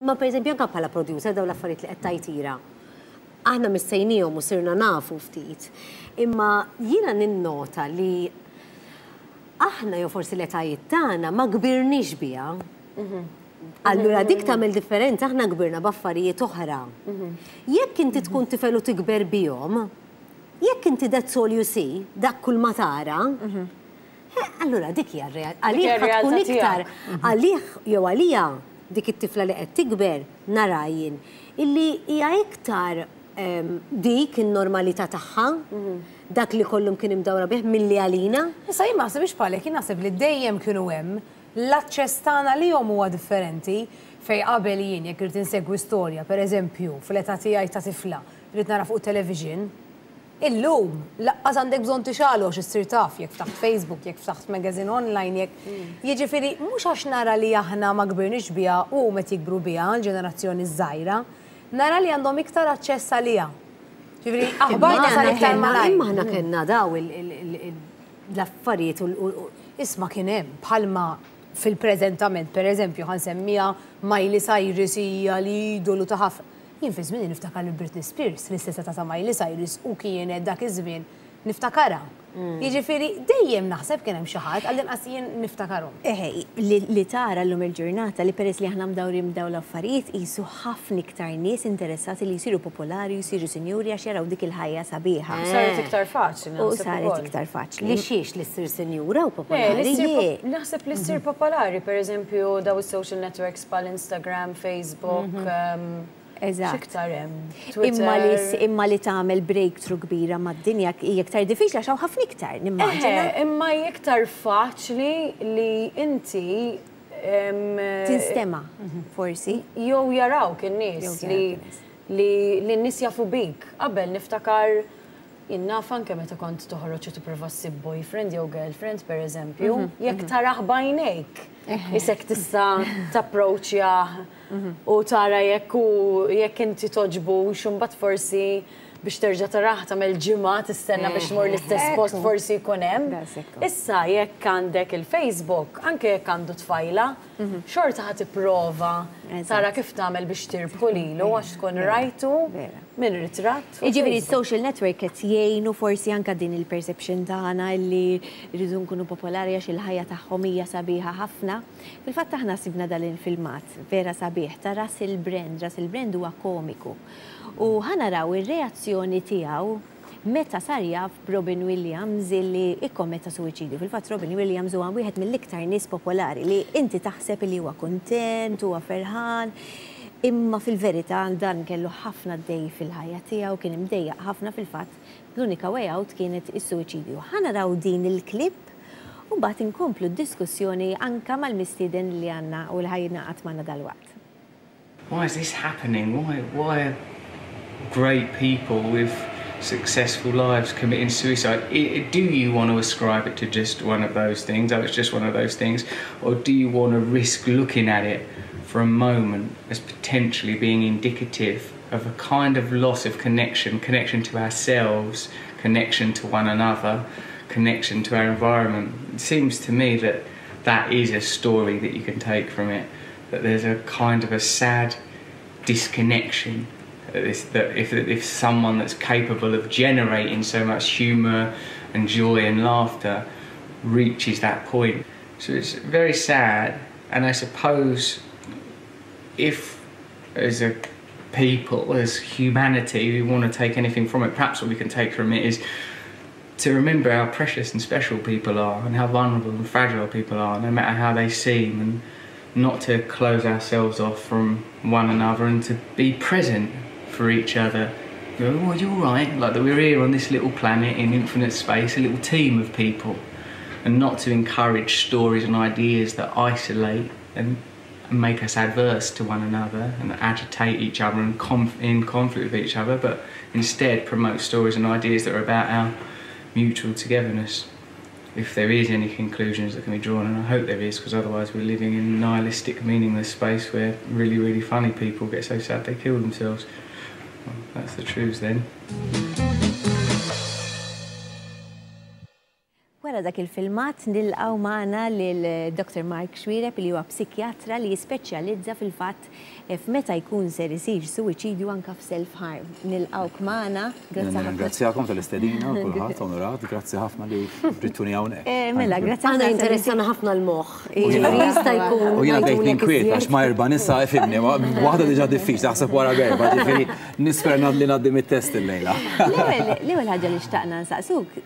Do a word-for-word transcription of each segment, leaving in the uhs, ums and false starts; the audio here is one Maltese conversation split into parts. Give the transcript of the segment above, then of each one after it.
Ma per eżempju anke bħala producer dawn l-affarijiet li qed tajtira. Aħna missejnihom u sirna nafu ftit. Imma jiena ninnota li aħna jew forsi l-etajiet tagħna ma kbirniex biha. Allura dik tagħmel differenza, aħna kbirna b'affarijiet oħra. Jekk inti tkun tifel u tikber bihom, jekk inti that's all you see, dak kull ma tara, eh, allura dik hija r-realtà. Għalih hija tkun r-realtà iktar tiegħek. Għalih jew għalija dik it-tifla li qed tikber nara jien illi hija iktar em, dik in-normalità tagħha, dak li kollum kien imdawra bih milli għalina. Issa jien ma naħsibx bħalek, jien naħseb li dejjem kienu hemm, l-aċċess tagħna lihom huwa differenti fej qabel jien jekk irid insegwi storja, per eżempju, fl-età tiegħi ta' tifla, rrid nara fuq television, illum, lanqas għandek bżonn tixgħelu għax issir taf, jekk ftaħt Facebook, jekk ftaħt magazine online, jekk. Jiġifieri, mhux għax nara li aħna ma kbirniex biha u meta jikbru biha l-ġenerazzjoni żgħira, nara li għandhom iktar aċċess għaliha. Ġifieri, aħbar tasal iktar malajr. Imma aħna kellna daw il- il- il- il- l-affarijiet u u- Isma' kien hemm bħalma fil-preżentament, per eżempju, ħa nsemmiha Miley Cyrus hija l-idolu ta' ħafna. Jien fi żmien niftakar li Britney Spears, l-istess età ta' Miley Cyrus u kienet dak iż-żmien niftakarha. Jiġifieri dejjem naħseb kien hemm xi ħadd għall-inqas jien niftakarhom. Eħe, li, li tara l-lum il-ġurnata li peress li aħna mdawrin b'daw l-affarijiet jisu ħafna iktar nies interessati li jsiru popolari, jsiru sinjuri għax jaraw dik il-ħajja sabiħa. Saret iktar faċli. U Naħseb saret ukoll. iktar faċli. Li xiex li ssir sinjura u Le, popolari. li ssir Je. pop- Naħseb li ssir popolari, per eżempju, daw is-social networks bħal Instagram, Facebook, um, Eżatt. x'iktar hemm? Imma li, Twitter. Imma li tagħmel breakthrough kbira mad-dinja hija iktar diffiċli għax hawn ħafna iktar, nimmaġina. Eħe, imma hija iktar faċli li inti em, Tinstema, forsi. Jew jarawk in-nies Jew li jarawk in-nies. li li n-nies jafu bik. Qabel niftakar jien naf anke meta kont toħroġ u tipprova ssib boyfriend jew girlfriend, per eżempju, jekk tarah b'għajnejk, isek tista' tapproċċja u tara jekk u jekk inti toġbux u mbagħad forsi biex terġa' tarah tagħmel ġimgħa tistenna biex tmur l-istess post, forsi jkun hemm. Dassekku. Issa jekk għandek il-Facebook, anke jekk għandu tfajla, xorta ħa tipprova Eżatt. tara kif tagħmel biex tirbħu lilu għax tkun rajtu Vera. minn ritratt fuq Jiġifieri Facebook. social network qed jgħinu forsi anka din il-perception tagħna li rridu nkunu popolari għax il-ħajja tagħhom hija sabiħa ħafna. Fil-fatt aħna sibna dan il-filmat vera sabiħ ta' Russell Brand. Russell Brand huwa komiku. U ħa naraw ir-reazzjoni tiegħu meta sar jaf Robin Williams illi ikkommetta suwiċidju. Fil-fatt Robin Williams huwa wieħed mill-iktar nies popolari li inti taħseb li huwa kuntent, huwa ferħan. Imma fil-verità dan kellu ħafna dej fil-ħajja tiegħu, kien imdejjaq ħafna, fil-fatt l-unika way out kienet is-suwiċidju. Ħa naraw din il-klip u mbagħad inkomplu d-diskussjoni anka mal-mistieden li għandna u li ħa jingħaqad magħna dalwaqt. Why is this happening? Why, why are great people with successful lives committing suicide? I, I- do you want to ascribe it to just one of those things? Oh, it's just one of those things. Or do you want to risk looking at it for a moment as potentially being indicative of a kind of loss of connection, connection to ourselves, connection to one another, connection to our environment? It seems to me that that is a story that you can take from it, that there's a kind of a sad disconnection. That, this, that if, if someone that's capable of generating so much humour and joy and laughter reaches that point. So it's very sad, and I suppose if as a people, as humanity, we want to take anything from it, perhaps what we can take from it is to remember how precious and special people are and how vulnerable and fragile people are, no matter how they seem, and not to close ourselves off from one another and to be present for each other. Go, "Oh, you're right," like that we're here on this little planet in infinite space, a little team of people, and not to encourage stories and ideas that isolate and, and make us adverse to one another and agitate each other and conf- in conflict with each other, but instead promote stories and ideas that are about our mutual togetherness. If there is any conclusions that can be drawn, and I hope there is, because otherwise we're living in nihilistic, meaningless space where really, really funny people get so sad they kill themselves. Well, that's the truth then. Wara Wara dak il-filmat nilqgħu magħna lil Doctor Mark Xuereb, li huwa psikjatra li jispeċjalizza fil-fatt f'meta jkun ser isir suwiċidju, anka f'self-harm. Nilqgħuk magħna. Grazzi ħafna. Ringrazzjakom tal-istedina, kulħadd onorat, grazzi ħafna li ġibtuni hawnhekk. Eh, mela, grazzi. Għana interessana ħafna l-moħħ. Jiġifieri jista' jkun. U jiena bdejt ninkwiet għax ma' erba' nisa, ifhimni, waħda diġà diffiċli, aħseb wara b'erba', ġifieri nispera li ngħaddi mit-test illejla. L-ewwel ħaġa li xtaqna nsaqsuk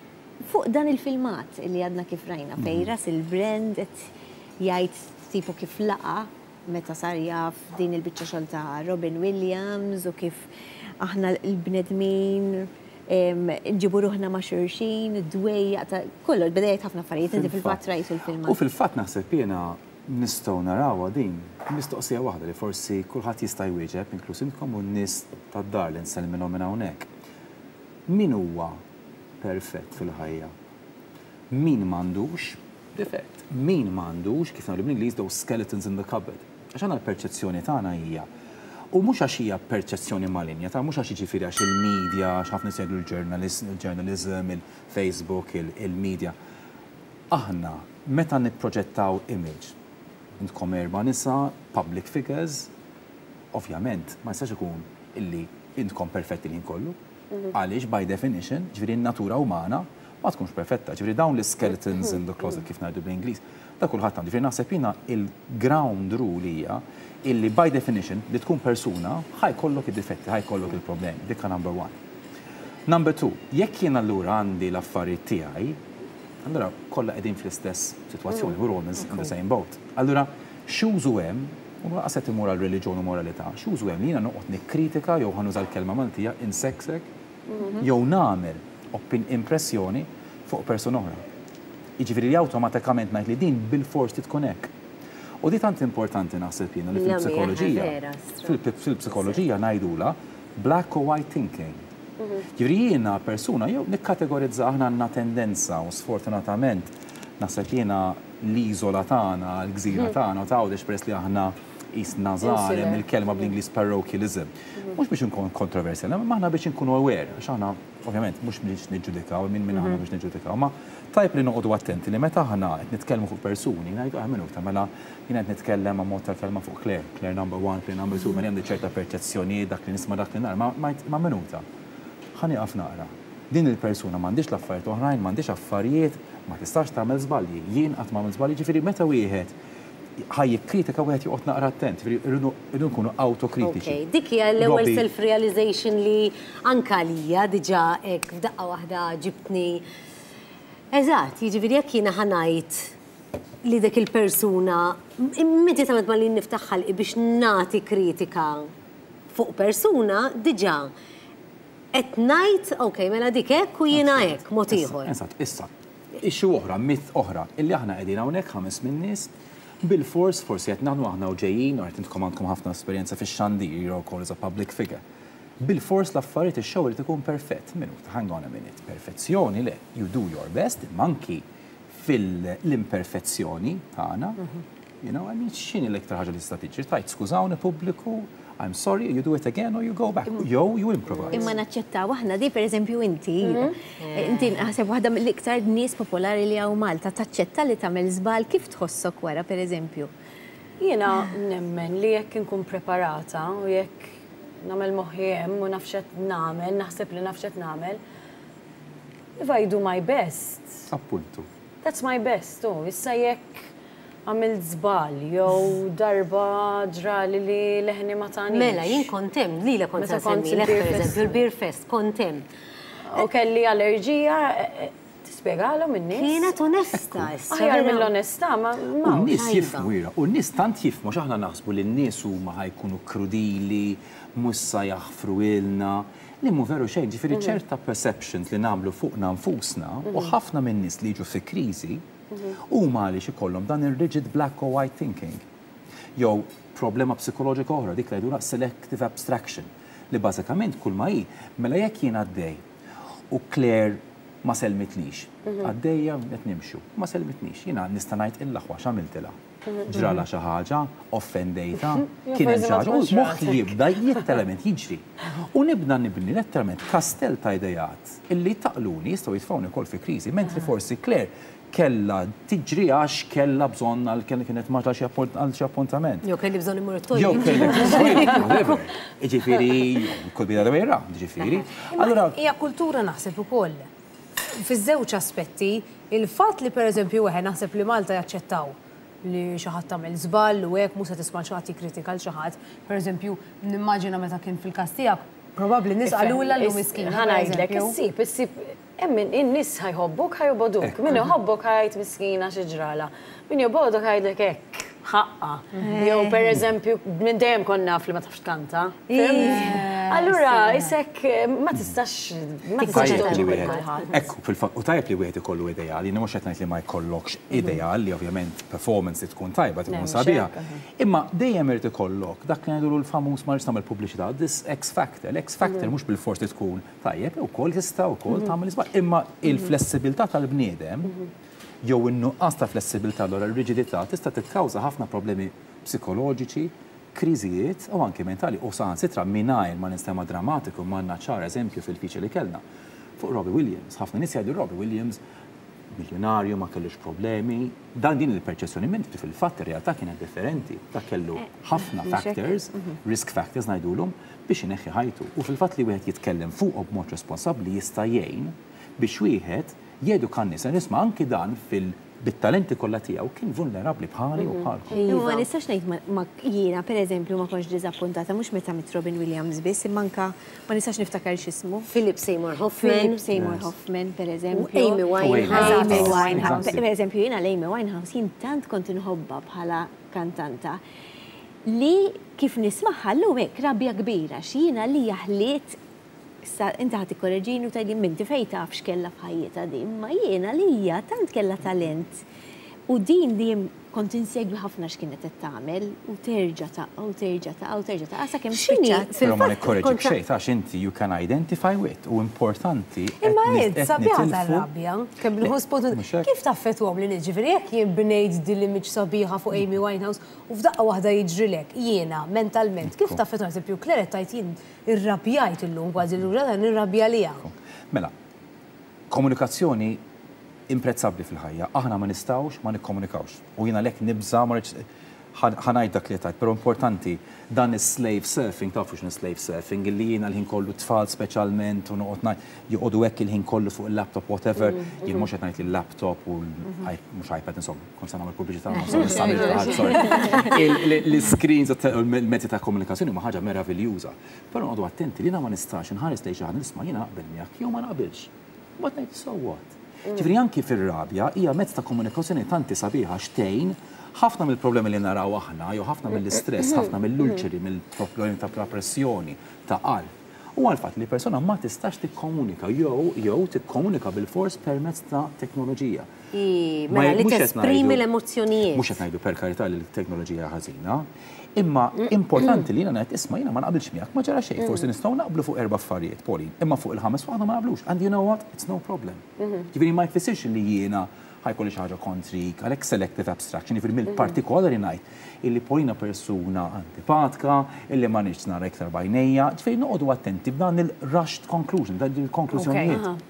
fuq dan il-filmat li għadna kif rajna, fejn Russell Brand qed jgħid tipo kif laqa meta sar jaf din il-biċċa xogħol ta' Robin Williams u kif aħna l-bnedmin nġibu ruħna ma' xulxin, dwejjaq ta' kollox, beda jgħid ħafna affarijiet, inti fil-fatt rajtu l-filmat. U fil-fatt naħseb jiena nistgħu narawha din mistoqsija waħda li forsi kulħadd jista' jwieġeb, inkluż intkom u n-nies tad-dar li nsellmilhom minn hawnhekk. Min huwa perfett fil-ħajja? Min m'għandux difett? Min m'għandux, kif ngħidu bl-Ingliż, those skeletons in the cupboard? Għax għandna l-perċezzjoni tagħna hija. U mhux għax hija perċezzjoni malinja, ta' mhux għax, jiġifieri, għax il-media, għax ħafna jsegwu il-journalism, il-Facebook, il-media. Aħna, meta nipproġettaw image, intkom erba' nisa, public figures, ovvjament, ma jistax ikun illi intkom perfetti li kollu. Għaliex by definition, ġifieri n-natura umana ma tkunx perfetta. Ġifieri dawn l-skeletons in the closet, kif ngħidu bl-Ingliż, da kulħadd għandu. Ġifieri naħseb jiena il-ground rule hija illi by definition li tkun persuna ħa jkollok id-difetti, ħa jkollok il-problemi. Dikka number one. Number two, jekk jien allura għandi l-affarijiet tiegħi, allura kollha qegħdin fl-istess sitwazzjoni, we're all in the same boat. Allura x'użu hemm, u lanqas qed imur għal reliġjon u moralità, x'użu hemm li jiena noqgħod nikkritika jew, ħa nuża l-kelma Maltija, inseksek, jew nagħmel opin impressjoni fuq persuna oħra? Jiġifieri li awtomatikament ngħid li din bil-fors tkun hekk. U di tant importanti, naħseb jiena, li fil-psikoloġija, fil-psikoloġija ngħidula black or white thinking. Ġifieri jiena persuna jew nikkategorizza, aħna għandna tendenza u sfortunatament naħseb jiena l-iżola tagħna, l-gżira tagħna u Għawdex, peress li aħna jisna żgħar, il-kelma bl-Ingliż parochialism. Mhux biex nkun kontroversjali, ma aħna biex nkunu aware, għax aħna ovvjament mhux biex niġġudikaw, min minn aħna biex niġġudikaw, ma tajb li noqogħdu attenti li meta aħna qed nitkellmu fuq persuni, ngħidu, "Ah, minuta, mela jien qed nitkellem ma' mod tal-kelma fuq Claire, Claire number one, Claire number two, mela għandi ċerta perċezzjoni, dak li nisma', dak li nara, ma minuta. Ħa nieqaf naqra. Din il-persuna m'għandix l-affarijiet oħrajn, m'għandix affarijiet, ma tistax tagħmel żbalji. Jien qatt m'għamel żbalji? Ġifieri meta wieħed ħa jikkritika, wieħed joqgħod naqra attent, rridu nkunu autokritiċi. Dik hija l-ewwel self-realization li anka lija diġà hekk f'daqqa waħda ġibtni. Eżatt, jiġifieri jekk jiena ħa ngħid li dik il-persuna, immedjatament ma li niftaħ ħalqi biex nagħti kritika fuq persuna, diġà qed ngħid, ok, mela dik hekk u jiena hekk, mod ieħor. Eżatt, issa, issue oħra, mit oħra, illi aħna qegħdin hawnhekk ħames minn nies, bil-fors forsi qed naħdmu aħna u ġejjin, u qed intkom għandkom ħafna esperjenza fix-xandir, you're called as a public figure. Bil-fors l-affarijiet, ix-show irid ikun perfett. Minuta, hang on a minute. Perfezzjoni le, you do your best, manki fil-imperfezzjoni tagħna. You know, I mean, x'inhi l-iktar ħaġa li tista' tiġri? Tgħid, "Skużawni pubbliku, I'm sorry," you do it again or you go back. Jew you improvise. Imma naċċettaw aħna di, per eżempju, inti, inti naħseb waħda mill-iktar nies popolari li hawn Malta, taċċetta li tagħmel żball? Kif tħossok wara, per eżempju? Jiena nemmen li jekk inkun preparata u jekk nagħmel moħħi hemm u naf x'qed nagħmel, naħseb li naf x'qed nagħmel, if I do my best, Appuntu. that's my best, u issa jekk għamilt żball jew darba ġrali li leħni ma tanix. Mela, jien kont hemm, li kont Meta kont semmilek, il-Beer per Fest. eżempju, il-Beer Fest, kont hemm. U kelli allerġija, eh, eh, tispjegalhom in-nies. Kienet onesta, issa. Aħjar vera. mill-onestà, ma U ma n-nies tajba. jifhmu jira, u n-nies tant jifhmu, x'aħna naħsbu li n-nies huma ħa jkunu krudili, mhux sa jaħfru ilna, li mhu veru xejn, ġifieri ċerta perceptions li nagħmlu fuqna nfusna, u ħafna minn nies li jiġu fi kriżi huma għaliex ikollhom dan ir-rigid black or white thinking. Jew problema psikoloġika oħra, dik li jgħidulha selective abstraction, li bażikament kull ma hi, mela jekk jien għaddej u Claire ma selmitlix, għaddejja qed nimxu, ma selmitnix, jiena nista' ngħid, "Il-aħwa, x'għamiltilha? Ġrala xi ħaġa, offendejta, kien hemm forsi xi ma ħaġa," u tkunx moħħi rasek. jibda letteralment jiġri. U nibda nibni letteralment kastell ta' idejat illi taqluni, jistgħu jitfgħuni wkoll fi kriżi, mentri forsi Claire Kella tiġri għax kella bżonn għal kienet maġla għal xi appuntament. Jew kelli bżonn immur it-toilet. Jew kellek whatever. Ġifieri, could be the other way around, ġifieri. Allura hija kultura naħseb ukoll. Fiż-żewġ aspetti, il-fatt li pereżempju wieħed naħseb li Malta jaċċettaw li xi ħadd tagħmel żball u hekk mhux se tisma' xi ħadd jikkritika l xi ħadd. Pereżempju, nimmaġina meta kien fil-każ tiegħek, probabbli nies qalulha llum miskina. Ħa ngħidlek, issib, issib Emmin, in-nies ħa jħobbuk, ħa jobogħduk. Min iħobbok ħa jgħid miskina xi ġrala. Min jobogħdok ħa jgħidlek hekk, ħaqqa. Jew per eżempju, minn dejjem konna naf li ma tafx tkanta. Allura, isek ma tistax ma tistax togħġob kulħadd. Ekku, fil-fatt, u tajjeb li wieħed ikollu ideali, mhux qed ngħid li ma jkollokx ideal li ovvjament performance li tkun tajba tkun sabiħa. Imma dejjem irid ikollok dak li ngħidu l-famuż ma rridx nagħmel pubbliċità, this X factor. L-X factor mhux bil-fors li tkun tajjeb ukoll tista' wkoll tagħmel iżball. Imma il-flessibilità tal-bniedem jew in-nuqqas ta' flessibilità allura r-riġidità tista' tikkawża ħafna problemi psikoloġiċi, kriżijiet u anke mentali u saħansitra mingħajr ma ninstema' drammatiku ma għandna ċar eżempju fil-feature li kellna. Fuq Robbie Williams, ħafna nies jgħidu Robbie Williams miljonarju, ma kellux problemi. Dan din il-perċezzjoni minn fil-fatt ir-realtà kienet differenti. Dak kellu ħafna factors, risk factors ngħidulhom biex ineħħi ħajtu. U fil-fatt li wieħed jitkellem fuqhom b'mod responsabbli jista' jgħin biex wieħed jeduka n-nies. Nisma' anki dan fil bit-talenti kollha tiegħu kien vulnerabbli bħali u bħalkom. Iva, ma nistax ngħid ma jiena pereżempju ma kontx diżappuntata mhux meta miet Robin Williams biss, imma anka ma nistax niftakar x'ismu. Philip Seymour Hoffman. Philip Seymour Hoffman, pereżempju. Amy Winehouse. Amy Winehouse. Pereżempju jiena l-Amy Winehouse jien tant kont inħobbha bħala kantanta li kif nismagħha llum hekk rabja kbira x'jiena li jaħliet. Issa inti ħa tikkoreġini u tgħidli minti fejn taf x'kellha f'ħajjitha din, ma jiena li hija tant kellha talent. U din li kont insegwi ħafna x'kienet qed tagħmel u terġa' taqa' u terġa' taqa' u terġa' taqa' sakemm spiċċat. Però ma nikkoreġik xejn għax inti you can identify with u importanti. Imma id sabiħa tar-rabja, kemm nieħu spunt kif taffettwahom li niġifieri jekk jien bnejt din l-image sabiħa fuq Amy Winehouse u f'daqqa waħda jiġrilek jiena mentalment kif taffettwahom eżempju Claire tajt jien irrabjajt illum kważi lura dan irrabja liha. Mela, komunikazzjoni imprezzabbli fil-ħajja. Aħna ma nistgħux ma nikkomunikawx. U jiena lek nibża ma ħa ngħid dak li tajt, però importanti dan is-slave surfing, tafu x'inhu slave surfing, illi jiena l-ħin kollu tfal speċjalment u noqgħod ngħid joqogħdu hekk il-ħin kollu fuq il-laptop whatever, jien mhux qed ngħid il-laptop u mhux iPad insomma, kont se nagħmel pubbliċità sorry. L-screens u l-mezzi ta' komunikazzjoni huma ħaġa meraviljuża. Però noqogħdu attenti li jiena ma nistax inħares lejn xi ħadd nisma' jiena naqbel miegħek jew ma naqbilx. Mbagħad ngħid so what? Ġifieri anki fir-rabja hija mezz ta' komunikazzjoni tanti sabiħa xtejn ħafna mill-problemi li naraw aħna, jew ħafna mill-istress, ħafna mill-ulċeri, mill-problemi ta' pressjoni, ta' qalb. U għal-fatt li persona ma tistax tikkomunika jew jew tikkomunika bil-fors permezz ta' teknoloġija. Mela li tesprimi l-emozzjonijiet. Mhux qed ngħidu per karità li l-teknoloġija ħażina, imma importanti li jiena ngħid isma' jiena ma naqbilx miegħek ma ġara xejn, forsi nistgħu naqblu fuq erba' affarijiet, Pauline, imma fuq il-ħames waħda ma naqblux. And you know what? It's no problem. Ġifieri ma jfissirx li jiena ħa jkolli xi ħaġa kontrik, għalhekk selective abstraction, jiġifieri mill-partikolari ngħid illi Paulina persuna antipatika, illi ma nix nara iktar bajnejja, ġifieri noqogħdu attenti b'dan il-rushed conclusion, dan il-konklużjonijiet.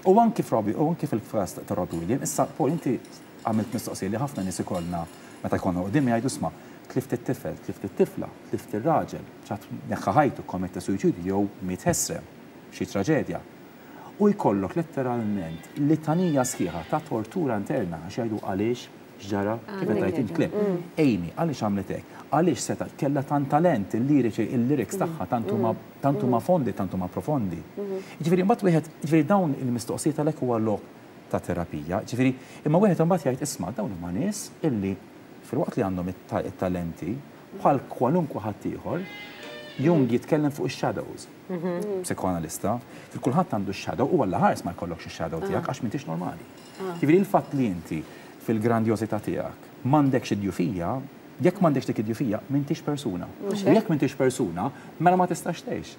U anki f'Robbie, u anki fil-każ ta' Robbie Williams, issa Paul inti għamilt mistoqsija li ħafna nies ikollna meta jkollna qudiem jgħidu isma' tlift it-tifel, tlift it-tifla, tlift ir-raġel, ċat neħħa ħajtu, kommetta suwiċidju jew miet ħesrem, xi traġedja. U jkollok letteralment litanija sħiħa ta' tortura interna għax jgħidu għaliex x'ġara kif qed tgħid int Claire. Amy, għaliex għamlet hekk? Għaliex seta' kellha tant talent il-liriċi, il-lyrics tagħha tant huma tant huma fondi, tant huma profondi. Jiġifieri mbagħad wieħed, jiġifieri dawn il-mistoqsijiet għalhekk huwa lok ta' terapija. Jiġifieri imma wieħed imbagħad jgħid isma' dawn huma nies illi filwaqt li għandhom it-talenti bħal kwalunkwe ħadd ieħor, Jung jitkellem fuq ix-shadows. Psikoanalista, fil-kulħadd għandu x-shadow u għalla ħares ma jkollokx ix-shadow tiegħek għax m'intix normali. Jiġifieri il-fatt li inti fil-grandjożità tiegħek m'għandekx id-djufija, jekk m'għandekx dik id-djufija, m'intix persuna. U jekk m'intix persuna, mela ma tistax tgħix.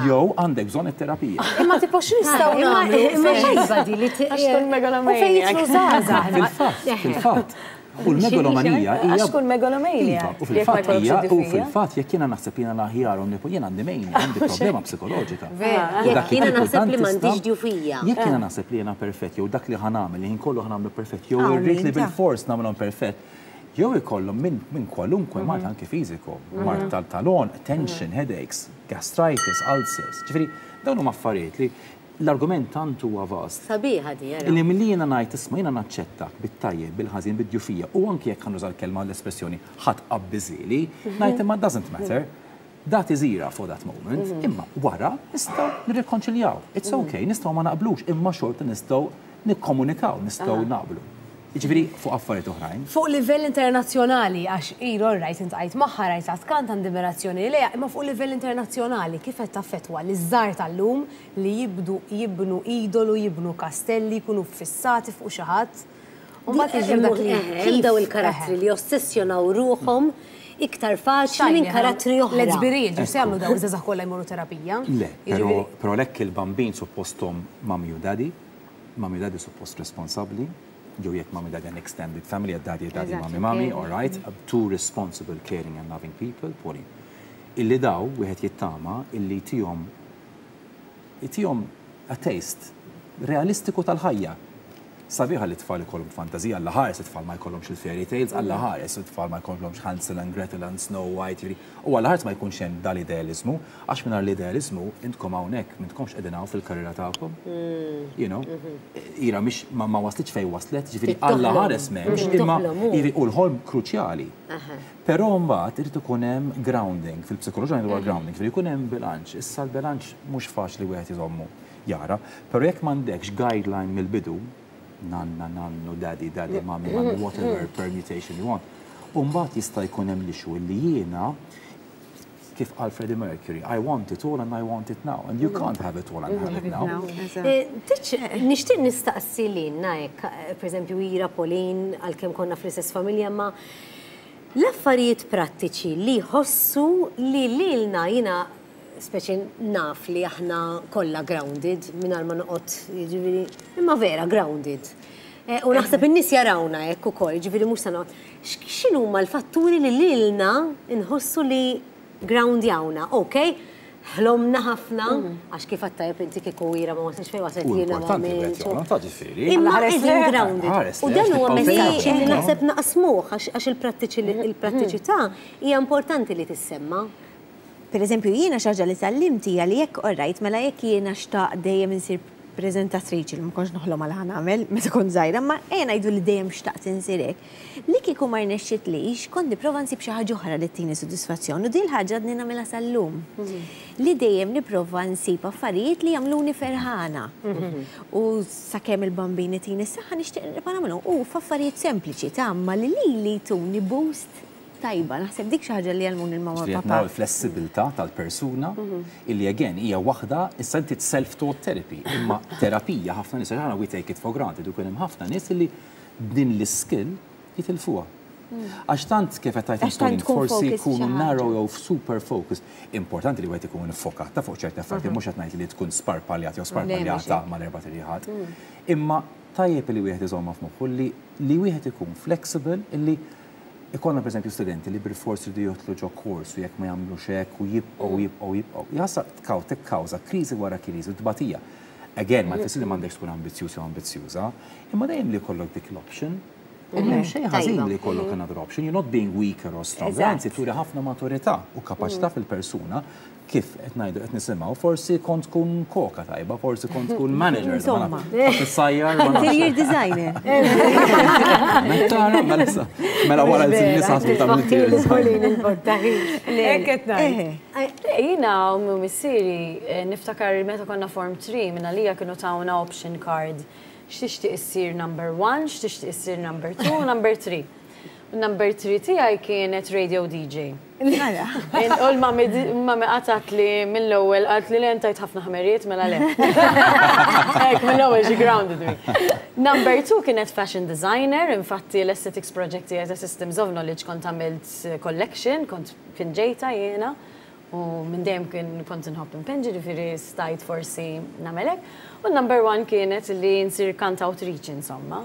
Jew għandek bżonn it-terapija. Imma tipo x'nistgħu nagħmlu? Imma xejba di li Għax tkun U fejn jidħlu żgħażagħ. Fil-fatt, fil-fatt. U l-megalomanija hija. Għax tkun megalomania. Iva, u fil-fatt hija, u fil-fatt jekk jiena naħseb jiena l-aħjar u jiena għandi mania, għandi problema psikoloġika. Jekk jiena naħseb li m'għandix djufija. Jekk jiena naħseb li jiena perfett, jew dak li ħa nagħmel, li ħin kollu ħa nagħmlu perfett, jew irrid li bil-fors nagħmilhom perfett, jew ikollhom minn kwalunkwe mard anke fiżiku, mard tal-talon, tension, headaches, gastritis, ulcers. Ġifieri, dawn huma affarijiet li l-argument tant huwa vast. Sabiħa di, Li milli jiena ngħid, isma', jiena naċċettak bit-tajjeb, bil-ħażin, bid-djufija, u anke jekk nuża l-kelma, l-espressjoni ħadd qabbiżili, ngħid imma doesn't matter. That is era for that moment, imma wara nistgħu nirrikonċiljaw. It's okay, nistgħu ma naqblux, imma xorta nistgħu nikkomunikaw, nistgħu naqblu. Jiġifieri fuq affarijiet oħrajn. Fuq livell internazzjonali, għax ilu rajt iltqajt magħha, rajt tkant, għandi ammirazzjoni lejha, imma fuq livell internazzjonali kif qed taffettwa li żgħar tal-lum li jibdu jibnu idolu, jibnu kastelli, jkunu fissati fuq xi ħadd? U mbagħad jiġri dak li Hemm daw il-karattri li ossessjonaw ruħhom iktar faċli minn karattri oħra. Let's be real, ġu se jagħmlu daw iż-żgħażagħ kollha jmorru terapija. Le, però però lekk il-bambin suppostom mummy u daddy, mummy u daddy suppost responsabbli, jew jekk mummy daddy an extended family, daddy, daddy, mommy, mommy, all right, two responsible, caring and loving people, Pauline. Illi daw, wieħed jittama, illi tihom tihom a taste realistiku tal-ħajja. Sabiħa li tfal ikollhom fantazija, Alla ħares it-tfal ma jkollhomx il-fairy tales, Alla ħares it-tfal ma jkollhomx Hansel and Gretel and Snow White, jiġifieri, u Alla ħares ma jkunx hemm dal-idealizmu, għax mingħajr l-idealizmu intkom hawnhekk m'intkomx qegħdin hawn fil-karriera tagħkom. You know, Ira mhix ma ma waslitx fejn waslet, ġifieri Alla ħares m'hemmx, imma jiġifieri u l-ħolm kruċjali. Però mbagħad irid ikun hemm grounding, fil-psikoloġija dwar grounding, ġifieri jkun hemm bilanċ. Issa l-bilanċ mhux faċli wieħed iżommu jara, però jekk m'għandekx guideline mill-bidu, nanna, nannu, daddy, daddy, mommy, mommy, whatever permutation you want. Umbagħad jista' jkun hemm l-issue li jiena kif qal Freddie Mercury, "I want it all and I want it now." And you can't have it all and have it now. Eh, nixtieq nistaqsi lilna hekk, per eżempju Ira, Pauline, għalkemm konna fl-istess familja, ma l-affarijiet prattiċi li ħossu li lilna, jiena speċi naf li aħna kollha grounded, mingħajr ma noqgħod, jiġifieri, imma vera grounded. Eh, u naħseb in-nies jarawna hekk ukoll, jiġifieri mhux se noqgħod. X'inhuma l-fatturi li lilna nħossu li groundjawna? Ok, ħlomna ħafna, għax kif għattajb inti, kieku Ira ma waslitx fejn waslet, jiena ma. Imma qegħdin grounded. U dan huwa messaġġ li naħseb naqsmuh għax il-prattiċità hija importanti li tissemma. Per eżempju, jiena xi ħaġa li tgħallimt hija li jekk, alright, mela jekk jiena xtaqt dejjem insir prezentatriċi, li ma kontx noħlom għal ħa nagħmel meta kont żgħira, ma ejja ngħidu li dejjem xtaqt insir hekk. Li kieku ma rnexxitlix, kont nipprova nsib xi ħaġa oħra li ttini sodisfazzjon u din l-ħaġa għadni nagħmilha sal-lum. Li dejjem nipprova nsib affarijiet li jagħmluni ferħana. U sakemm il-Bambin itini s-saħħa nixtieq nibqa' nagħmilhom. U f'affarijiet sempliċi ta' ma li li tuni boost tajba, naħseb dik xi ħaġa li għallmuni il-mama, papa. Il-flessibilità tal-persuna illi again hija waħda, issa inti self-taught therapy, imma terapija ħafna nies aħna we take it for granted, u hemm ħafna nies illi din l-skill jitilfuha. Għax tant kif qed tgħid forsi jkunu narrow jew super focus. Importanti li wieħed ikun fokat ta' fuq ċerti affarijiet, mhux qed ngħid li tkun sparpaljat jew sparpaljata mal-erba' triħat. Imma tajjeb li wieħed iżomma f'moħħu li li wieħed ikun flexible, illi ikollna per eżempju studenti li bil-forsi li jidħlu ġo kors u jekk ma jagħmlux hekk u jibqgħu, jibqgħu, jibqgħu. Jasa tkaw tikkawża kriżi wara kriżi u tbatija. Again, ma jfissir li m'għandekx tkun ambizzjuż jew ambizzjuża, imma dejjem li jkollok dik l-option. U m'hemm xejn ħażin li jkollok another option, you're not being weaker or stronger, anzi turi ħafna maturità u kapaċità fil-persuna kif qed ngħidu qed nisimgħu, forsi kont tkun koka tajba, forsi kont tkun manager. Insomma. Tissajjar. Interior designer. Mela mela mela wara l-nisa ta' interior designer. Hekk qed ngħid. Jiena u missieri eh, niftakar meta konna form three, minna lija kienu tawna option card. X'tixtieq issir number one, x'tixtieq issir number two, number three. Number three tiegħi kienet radio D J. U l-mami mami qatat li mill-ewwel, qalt li tajt ħafna ħmerijiet, mela le. Hekk mill-ewwel she grounded me. Number two kienet fashion designer, infatti l-aesthetics project tiegħi ta' Systems of Knowledge kont għamilt collection, kont pinġejta jiena. U minn dejjem kien kont inħobb inpinġi, ġifieri stajt forsi nagħmelek. U number one kienet li nsir kantawtriċi, insomma.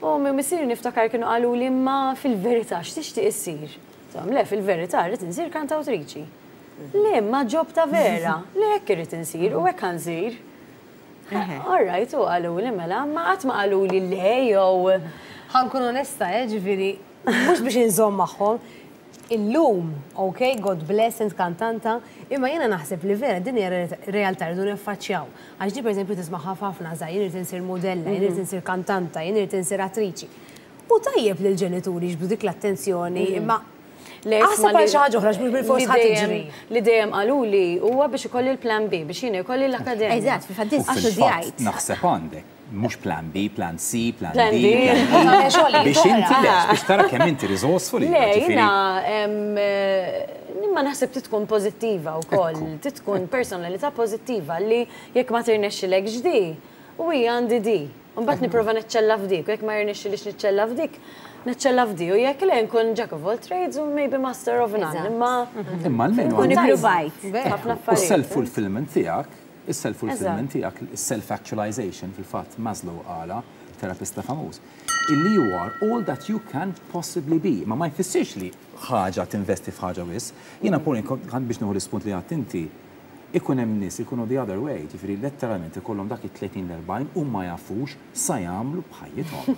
U mi missieri niftakar kienu qalu li ma fil-verità x'tixtieq issir. Tom, le, fil-verità rrid insir kantawtriċi. Le, ma job ta' vera, le hekk irrid insir u hekk nsir. All right, u qalu li mela, ma qatt ma qalu li le jew. Ħa nkun onesta, eh, ġifieri, mhux biex inżomm magħhom. Illum, ok, God bless, int kantanta, imma jiena naħseb li vera din hija realtà rridu niffaċċjaw. Għax di pereżempju tisma' ħafna żgħar, jien irid insir modella, jien irid insir kantanta, jien irid insir attriċi. U tajjeb li l-ġenituri jiġbdu dik l-attenzjoni, imma aħseb għal xi ħaġa oħra mhux bilfors ħadd tiġri. Li dejjem qaluli huwa biex ikolli l-plan B, biex jien ikolli l-akkademja. Eżatt, fil-fatt U studjajt. fil-fatt naħseb għandek, mhux plan B, plan C, plan Plan D, D. plan E. Biex inti lex, biex tara kemm inti resourceful. Le, ġifieri. jiena, em, eh, nimma naħseb titkun pozittiva u koll, titkun personalità pozittiva li jekk ma tirnexxilek ġdi, u hija għandi di. Mbagħad nipprova neċċella f'dik, u jekk ma jirnexxilix niċċella f'dik, neċċella f'di, u jekk le nkun jack of all trades u maybe master of none. Eżatt. Imma Imma almenu Kun għandek- ippruvajt. ħafna U affarijiet. self-fulfillment tiegħek, il-self-fulfillment Eżatt. tiegħek, il-self-actualization, fil-fatt Maslow qala, terapista famuż, illi you are all that you can possibly be. Ma ma jfissirx li ħaġa tinvesti f'ħaġa wis. Jiena puri biex nieħu l-ispunt li għedt inti, ikun hemm nies ikunu the other way, ġifieri letteralment ikollhom dak it-tletin l-erbgħin u ma jafux sa jagħmlu b'ħajjithom.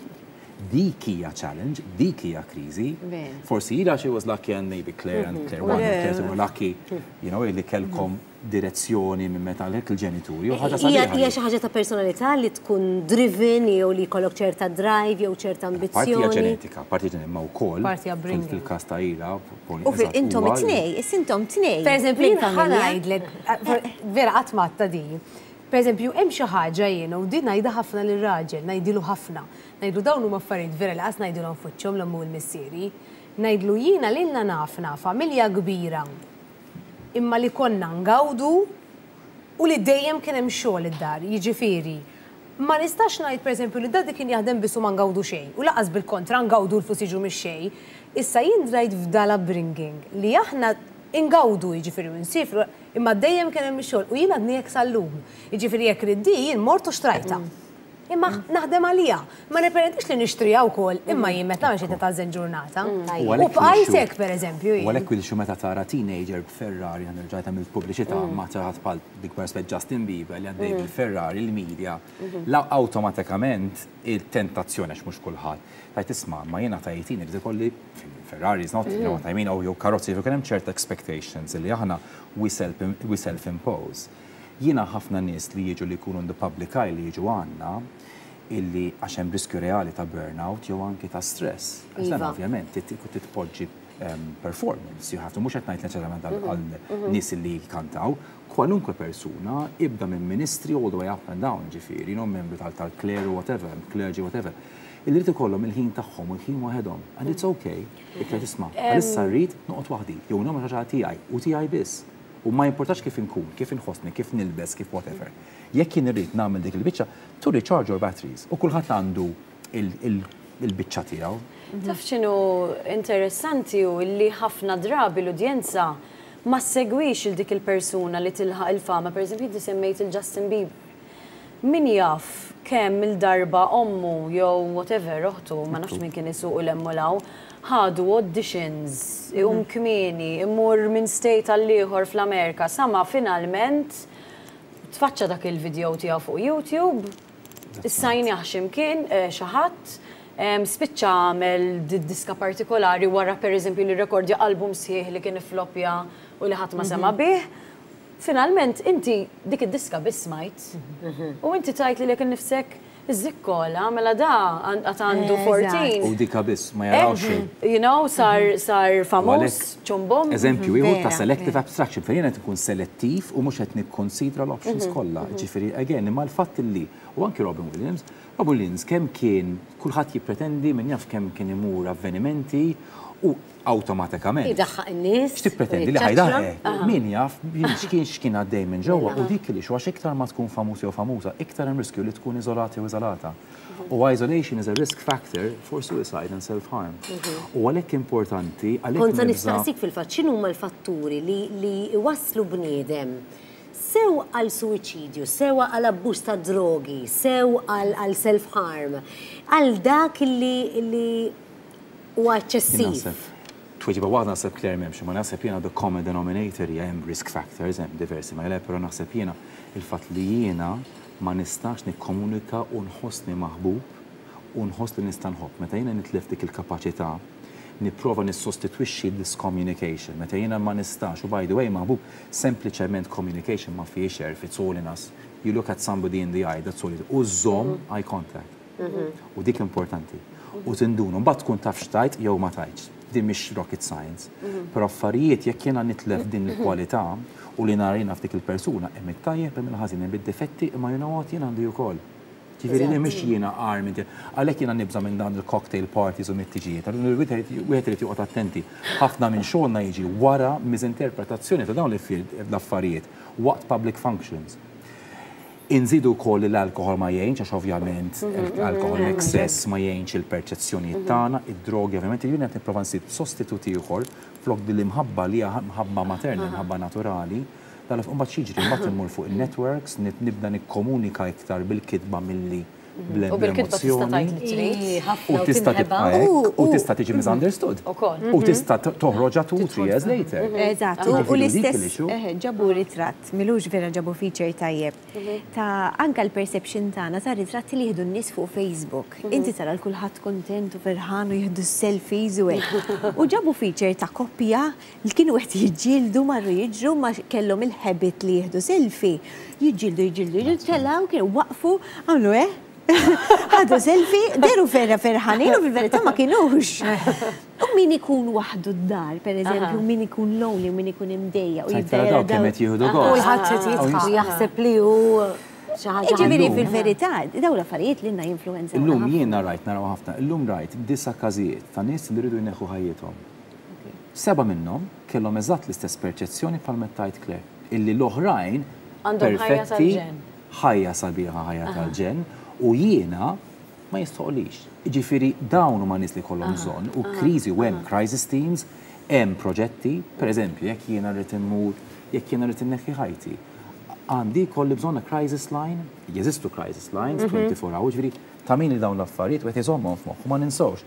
Dik hija challenge, dik hija kriżi. Ver. Forsi Ira she was lucky and maybe Claire and Claire one and Claire two were lucky, you know, li kellkom direzzjoni minn meta għalhekk il-ġenituri. U ħaġa Hija sabiħa hija li- xi ħaġa ta' personalità li tkun driven jew li jkollok ċerta drive jew ċerta Parti hija ambizzjoni. ġenetika, parti ġenetika, ma wkoll Parti upbringing. fil-każ ta' Ira, U fil intom it-tnej, is-intom tnej. Per eżempju, jien mill-familja. ħa ngħidlek, vera qatt matta di. Per eżempju, hemm xi ħaġa jiena u din ngħidha ħafna lir-raġel, ngħidilu ħafna. Ngħidlu dawn huma affarijiet vera li qas ngħidilhom f'wiċċhom l-ommu u l-missieri. Ngħidlu jiena lilna nafna familja kbira imma li konna ngawdu u li dejjem kien hemm xogħol id-dar, jiġifieri. Ma nistax ngħid pereżempju li daddy kien jaħdem biss u ma ngawdu xejn, u lanqas bil-kontra ngawdu l-flus jiġu mix-xejn. Issa jien drajt f'dal upbringing li aħna ingawdu jiġifieri u nsifru, imma dejjem kien hemm ix-xogħol u jien għadni hekk sal-lum. Jiġifieri jekk riddi jien mort u xtrajta. Imma naħdem għalija. Ma nipretendix li nixtrija wkoll, imma jien meta nagħmel xi tażen ġurnata. U U għalhekk bqajt il-xu- hekk pereżempju U jien. għalhekk il meta tara teenager b'Ferrari, għan rġajt għamilt pubbliċità ma taħat pal dik rispett Justin Bieber li għaddej bil-Ferrari, il-media, la awtomatikament il-tentazzjoni għax mhux kulħadd. Tajt isma' ma jiena tajtin irid ikolli Ferrari is not, you know what I mean, oh, jew karozzi, jkun hemm ċerta expectations li aħna we self we self-impose. Jiena ħafna nies li jiġu li jkunu in the public eye li jiġu għandna illi għax hemm riskju reali ta' burnout jew anki ta' stress. Għax dan Iva. ovvjament tit- titpoġġi um, performance, you have to, mhux qed ngħid neċessarjament għal għal nies li jkantaw, kwalunkwe persuna ibda minn ministri all the way up and down, ġifieri, you know, membru tal- tal-clerical whatever, clergy whatever. Illi rrid ikollhom il-ħin tagħhom u l-ħin waħedhom. And it's okay, iktar tisma' għalissa rrid noqgħod waħdi, jew nagħmel xi ħaġa tiegħi u tiegħi biss. U ma jimportax kif inkun, kif inħossni, kif nilbes, kif whatever. Jekk jien irrid nagħmel dik il-biċċa, to recharge your batteries. U kulħadd għandu il- il- il-biċċa tiegħu. Taf x'inhu interessanti u li ħafna drabi l-udjenza ma segwix il dik il-persuna li tilħaq il-fama, per eżempju, inti semmejt il-Justin Bieber. Min jaf kemm il-darba ommu jew whatever oħtu, ma nafx min kien isuq l-emmu law, ħadu auditions, iqum kmieni, imur minn state għall-ieħor fl-Amerika, sama finalment tfaċċa dak il-video tiegħu fuq YouTube, issajnieh x'imkien eh, xi ħadd, em, spiċċa għamel di- diska partikolari wara pereżempju li rekordja album sħiħ li kien iflopja u li ħadd ma sema bih. Finalment inti dik id-diska biss smajt. U inti tajt li lek nifsek iż-żikkola, mela da għad għandu Eżatt. erbatax. U dika biss ma jaraw xejn. You know, sar, sar famuż, għalhekk, ċumbom. Eżempju, ieħor ta' Vera, selective vera. abstraction, fejn qed ikun selettiv u mhux qed nikkonsidra l-options kollha. Ġifieri, again, imma l-fatt li u anki Robin Williams, Robin Williams kemm kien kulħadd jippretendi min jaf kemm kien imur avvenimenti u awtomatikament. Idaħħaq in-nies. X'tippretendi li u jiċċaċċra. ħajdaħek? Min jaf min x'kien x'kien għaddej minn ġewwa u dik li xu għax iktar ma tkun famuż jew famuża, iktar hemm riskju li tkun iżolata jew iżolata. U isolation is a risk factor for suicide and self-harm. U għalhekk importanti, għalhekk Kont se nibża' nistaqsik fil-fatt x'inhuma l-fatturi li li iwasslu bniedem Sew għal suwiċidju, sew għal abbuż ta' drogi, sew għal self-harm, għal dak li li huwa eċċessiv. Tweġiba waħda naħseb, Claire, m'hemmx, ma naħseb jiena the common denominator hija hemm risk factors, hemm diversi, ma jle, però naħseb jiena il-fatt li jiena ma nistax nikkomunika u nħossni maħbub u nħoss li nista' nħobb. Meta jiena nitlef dik il-kapaċità, nipprova nissostitwixxi this communication. Meta jiena ma nistax, u by the way, maħbub, sempliċement communication ma fiex għerf, it's all in us. You look at somebody in the eye, that's all it. U żomm eye contact. U dik importanti. U tindunu, mbagħad tkun taf x'tajt jew ma tajtx. Din mhix rocket science. Però affarijiet jekk jiena nitlef din il-kwalità u li narina f'dik il-persuna, hemm it-tajjeb, hemm il-ħażin, hemm id-difetti, imma you know what, jien għandi wkoll. Ġifieri li mhix jiena armi, għalhekk jiena nibża minn dan il-cocktail parties u mit-tiġijiet. Wieħed irid joqgħod attenti. Ħafna minn xogħolna jiġi wara miżinterpretazzjoni ta' dawn l-affarijiet waqt public functions. Inżidu wkoll li l-alkohol ma jgħinx, għax ovvjament l-alkohol excess ma jgħinx il-perċezzjonijiet tagħna, id-drogi ovvjament, jien qed nipprova nsib sostituti ieħor flok din l-imħabba li hija mħabba materna, mħabba naturali, dal mbagħad x'jiġri, mbagħad immur fuq il-networks, nibda nikkomunika iktar bil-kitba milli U bil-kitba tista' tgħid li trid. U tista' tibqa' hekk, u tista' tiġi misunderstood. Ukoll. U tista' toħroġha two, three years later. Eżatt, u Ġifieri dik l-istess l-issue. eh, ġabu ritratt, milux vera ġabu feature tajjeb, ta' anka l-perception tagħna ta' ritratti li jieħdu n-nies fuq Facebook. Inti tara l-kulħadd kontent u ferħan u jieħdu selfies u hekk. U ġabu feature ta' koppja li kienu qed jiġġieldu, marru jiġru, ma kellhom il-habit li jieħdu selfie. Jiġġieldu, jiġġieldu, jiġġieldu, telgħu, kienu waqfu, għamlu eh? Ħadu selfie, dehru vera ferħanin u fil-verità ma kienux. U min ikun waħdu d-dar, per eżempju, min ikun lonely, u min ikun imdejjaq. U Tajt jibda tara jara dawk kemm dawn- qed jieħdu U gost. l-ħadd qed jidħaq u jaħseb li hu xi ħaġa. Ġifieri Illum. fil-verità, dawn l-affarijiet li jinfluwenza. Illum jiena rajt, naraw ħafna, illum rajt disa każijiet ta' nies li rridu jneħħu ħajjithom. Seba minnhom kellhom eżatt l-istess perċezzjoni bħal mettajt Claire, illi l-oħrajn Għandhom ħajja perfetti, tal-ġenn. ħajja sabiħa, ħajja tal-ġenn, u jiena ma jistħoqlix. Ġifieri dawn huma nies li kollhom bżonn u kriżi u hemm crisis teams, hemm proġetti, per eżempju, jekk jiena rrid immur, jekk jiena rrid inneħħi ħajti. Għandi kolli bżonn a crisis line, jeżistu crisis lines, twenty-four hours, ġifieri ta' min li dawn l-affarijiet u qed iżommhom f'moħħu, ma ninsawx.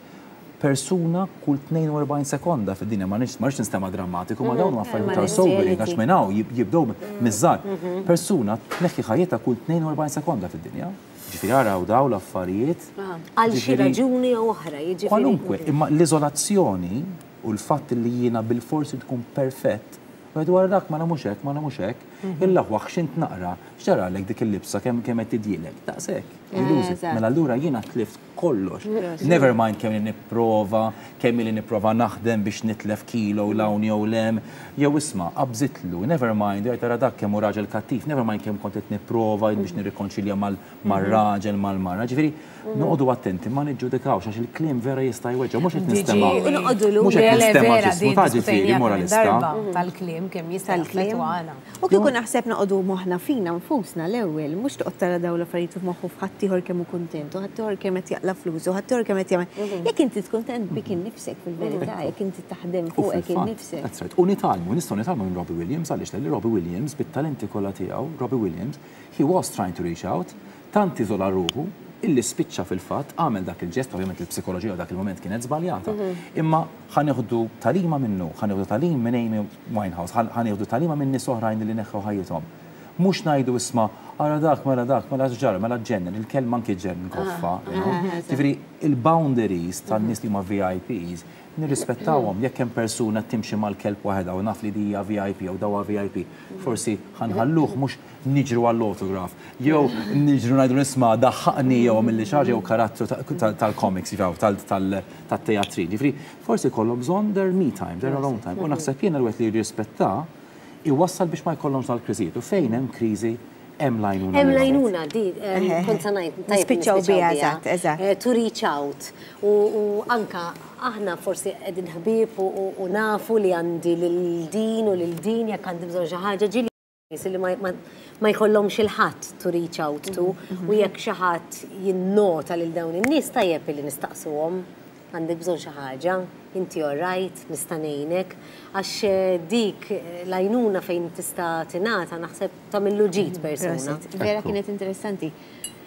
Persuna kull tnejn u erbgħin sekonda fid-dinja, ma nix ma rridx nistema drammatiku, ma dawn huma affarijiet Ma ta' sobering, reality. għax minn hawn jib- jibdew miż-żgħar. Persuna tneħħi ħajjitha kull tnejn u erbgħin sekonda fid-dinja. Ġifieri araw daw l-affarijiet. Għal xi Ġifieri- raġuni jew oħra, jiġifieri. Kwalunkwe, imma l-izolazzjoni u l-fatt li jiena bil-forsi tkun perfett, u dwar dak ma mhux hekk, ma mhux hekk, illa xint naqra, x'ġaralek dik il-libsa kemm kemm qed tidjilek, daqshekk. You lose it. Eżatt. Mela allura jiena tlift kollox. Never mind kemm li nipprova, kemm li nipprova naħdem biex nitlef kilo 'l hawn jew 'l hemm, jew isma' qabżitlu, never mind, jgħid tara dak kemm hu raġel kattiv, never mind kemm kont qed nipprova biex nirrikonċilja mal-raġel, mal-mara. Ġifieri noqogħdu attenti ma niġġudikawx għax il-kliem vera jista' jweġġa', mhux qed nistema'. U noqogħdu lura. Mhux qed Le, le, nistema' vera, ġismu din ta' ġifieri diskutejniha kemm moralista. darba tal-kliem kemm jista' Tal-kliem. jaffettwana. U kieku naħseb noqogħdu moħħna fina nfusna l-ewwel, mhux toqgħod tara dawn l-affarijiet f'moħħu f'ħaddieħor kemm hu kuntent, u ħaddieħor kemm qed jaqla flus, u ħaddieħor kemm qed jagħmel. Jekk inti tkun kuntent bik innifsek fil-verità, jekk inti taħdem U fuqek fil-fatt, innifsek. That's right. U nitgħallmu, nistgħu nitgħallmu minn Robbie Williams, għaliex li Robbie Williams bit-talenti kollha tiegħu, Robbie Williams, he was trying to reach out, tant iżola ruħu illi spiċċa fil-fatt għamel dak il-ġest, ovvjament il-psikoloġija dak il-moment kienet żbaljata. Imma ħa nieħdu tagħlima minnu, ħa nieħdu tagħlim minn Amy Winehouse, ħa nieħdu tagħlima minn nies oħrajn li neħħu ħajjithom. Mhux ngħidu isma' ara dak, mela dak, mela ġara, mela ġennen, il-kelma anki ġennen koffa. you know. Ġifieri il-boundaries tan-nies li huma V I Ps nirrispettawhom. Jekk hemm persuna timxi mal-kelb waħedha u naf li dija V I P jew dawa V I P, forsi ħa nħalluh, mhux niġru għall-autograph, jew niġru ngħidu nisma' daħħaqni jew milli xi ħaġa jew karattru ta- ta- tal-comics jew tal-teatri. Ġifieri forsi jkollhom bżonn their me time, their alone time. U naħseb jiena l-wieħed li jirrispetta iwassal biex ma jkollhomx dal-kriżijiet. U fejn hemm kriżi hemm l-għajnuna. Hemm li l-għajnuna di, em, kont se ngħid, tajjeb Nispiċċaw nispiċċaw biha, eżatt, eżatt. Eh, To reach out. U u anka aħna forsi qegħdin ħbieb u- u u nafu li għandi lil din u lil din jekk għandi bżonn xi ħaġa, ġieli nies li ma- ma ma jkollhomx il-ħadd to reach out to, u jekk xi ħadd jinnota lil dawn in-nies, tajjeb li nistaqsuhom. Għandek bżonn xi ħaġa, inti all right, nista' ngħinek, għax eh, dik eh, l-għajnuna fejn tista' tingħata naħseb tagħmillu ġid persuna. Prosit. Vera kienet interessanti.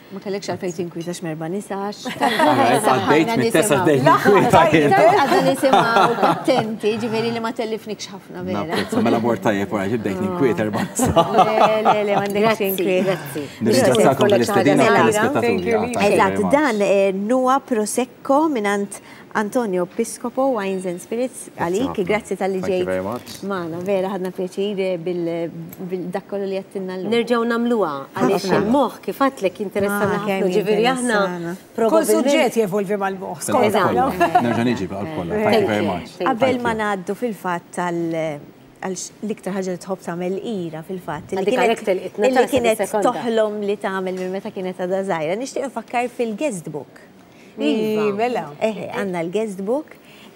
Ma kellekx għalfejn tinkwieta x'merba nisax. Għaddejt mit-test għaddejt ninkwieta jien. Għadna nisimgħu attenti, ġifieri li ma tellifnikx ħafna vera. Napprezza, mela mort tajjeb wara bdejt ninkwieta erba' nisa. Le, le, le, m'għandekx Grazzi, inkwiet. grazzi. Nirringrazzjakom tal-istedina u Mela, Thank you, tal-ispettaturi. Lisa. Thank you very Eżatt, much. dan eh, Nua Prosecco mingħand Antonio Piscopo, Wines and Spirits, għalik, ħafna. grazzi talli Thank you ġejt. very much. Magħna, vera ħadna pjaċir bil-dak kollu li għedtilna llum. Nerġgħu nagħmluha għaliex Ħafna. il-moħħ kif għedtlek jinteressana Ah, ħafna kemm ġifieri aħna jinteressana. Kull suġġett jevolvi mal-moħħ. skont. Eżatt. Nerġa' niġi bil-qalb kollha. Thank you very much. Thank Qabel Thank ma you. ngħaddu fil-fatt tal għal l-iktar ħaġa li tħobb tagħmel Ira fil-fatt. Li Għadik kienet- għalhekk telqitna Illi tagħseb kienet is-sekonda. toħlom li tagħmel minn meta kienet għadha żgħira. Nixtieq nfakkar fil-guest book. Iva. Mela. Eħe, għandna l-guest book,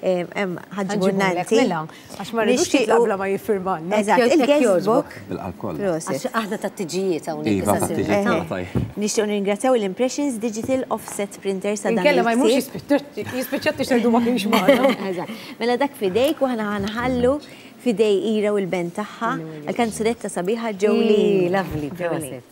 hemm ħa ġġibulna Ħa nġibulek, inti. mela, għax ma rridux Nixtiequ- jitlaq bla ma jiffirmalna. Eżatt, Jekk il-guest jogħġbok. book. Bil-qalb kollha. Prosit. Għax aħna ta' tiġijiet hawnhekk Iva, issa ta' sirna. tiġijiet. Eħe. Tajjeb. Nixtiequ nirringrazzjaw l-Impressions Digital Offset Printers ta' dan Inkella ma jmux il-ktieb. jispiċċat tixterdu ma kienx magħna. Eżatt. Mela dak fidejk u aħna ħa nħallu fidej Ira u l-band tagħha għal-kanzunetta sabiħa Jolene. Lovely, Jolene. prosit.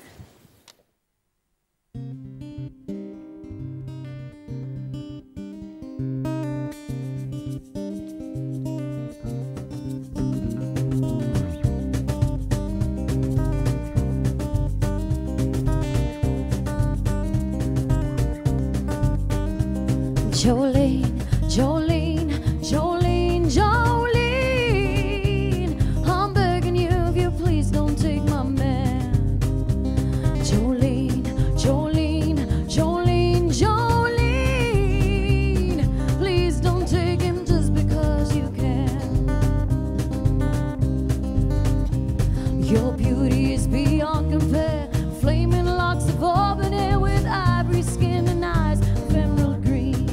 Jolene, Jolene, Jolene, Jolene. I'm begging you if you please don't take my man. Jolene, Jolene, Jolene, Jolene. Please don't take him just because you can. Your beauty is beyond compare. Flaming locks of auburn hair with ivory skin and eyes of emerald green.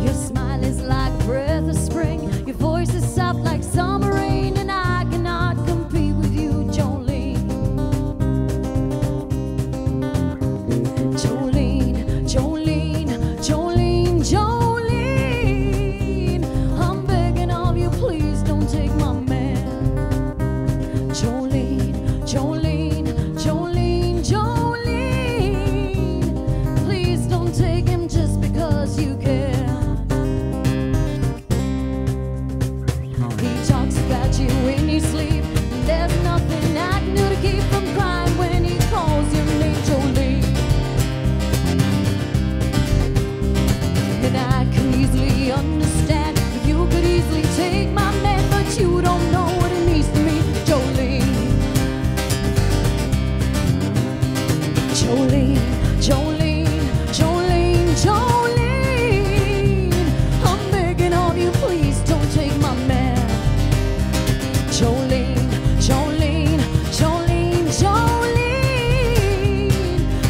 Your smile is like a breath of spring. Your voice is soft like summer rain, and I cannot compete with you, Jolene. Jolene, Jolene, Jolene, Jolene. I'm begging of you, please don't take my man. Jolene, Jolene, Jolene, Jolene. Please don't take him just because you can. He talks about you in your sleep. There's nothing I can do to keep from crying when he calls your name, Jolene. And I can easily understand if you could easily take my man, but you don't know what it means to me, Jolene. Jolene, Jolene, Jolene, Jolene. I'm begging of you, please don't take my man. Jolene, Jolene, Jolene, Jolene.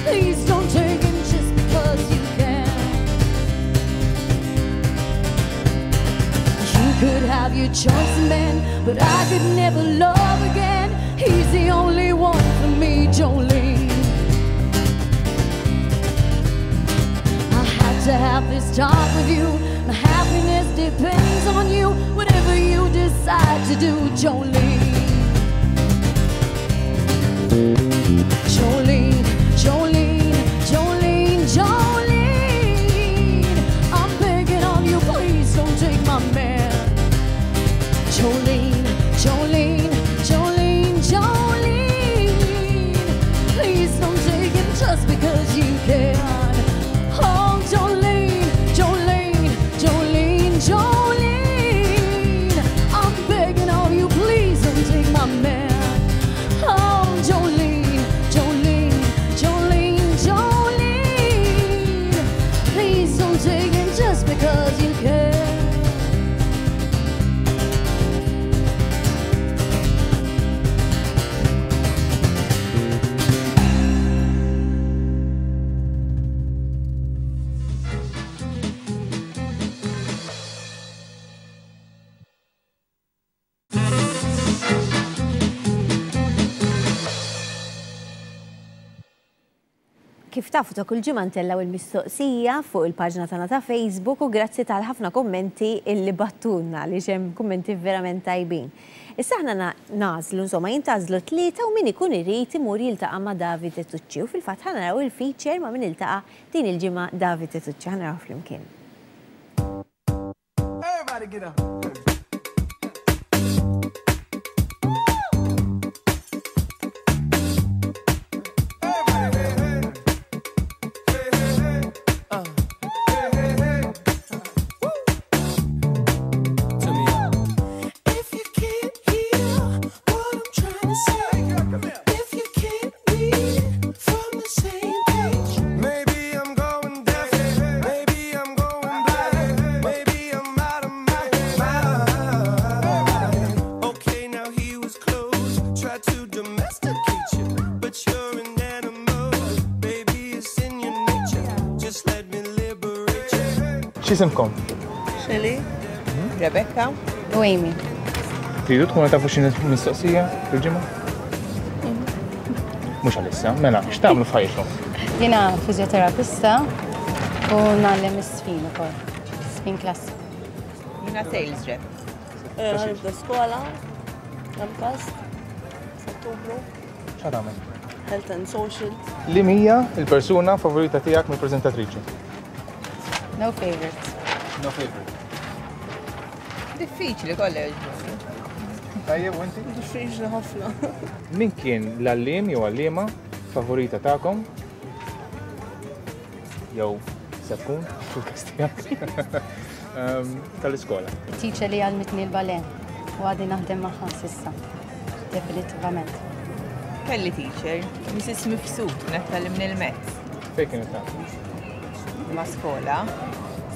Please don't take him just because you can. You could have your choice of men, but I could never love again. He's the only one for me, Jolene. I had to have this talk with you. My happiness depends on you. Whatever you decide to do, Jolene. Jolene, Jolene, Jolene, Jolene. I'm begging on you, please don't take my man. Jolene, Jolene, Jolene, Jolene. Please don't take him just because you can. Oh, Jolene, Jolene, Jolene, Jolene. I'm begging of you, please don't take my man. Oh, Jolene, Jolene, Jolene, Jolene. Please don't take him just because you can. Kif tafu ta' kull ġimgħa ntellgħu il-mistoqsija fuq il-paġna tagħna ta' Facebook u grazzi tal-ħafna kummenti illi bagħtulna li hemm kummenti verament tajbin. Issa aħna nagħżlu, insomma, jintgħażlu tlieta u min ikun irid imur jiltaqa' ma' Davide Tucci u fil-fatt ħa naraw il-feature ma' min iltaqa' din il-ġimgħa Davide Tucci, ħa naraw flimkien. Everybody get up. X'isimkom? Shelly, Rebecca u Amy. Tridu tkunu tafu xi mistoqsija fil-ġimgħa? Mhux għalissa, mela, x'tagħmlu f'ħajjitkom? Jiena fiżjoterapista u ngħallem is-sfin ukoll, sfin klassiku. Jiena sales rep. Nibda skola, MCAST, f'Ottubru. X'għad tagħmel? Health and Social. Li hija l-persuna favorita tiegħek mill-preżentatriċi? No favorite. No favorite. Diffiċli kollha jogħġbuni. Tajjeb, u inti? Diffiċli ħafna. Min kien l-għalliem jew għalliema favorita tagħkom? Jew se tkun fil-każ tiegħek tal-iskola. It-teacher li għallmitni l-ballet u għadni naħdem magħha s'issa. Definitivament. Kelli teacher, Missus Mifsud, kienet tgħallimni l-mezz. Fejn kienet tagħmel? Ma' skola,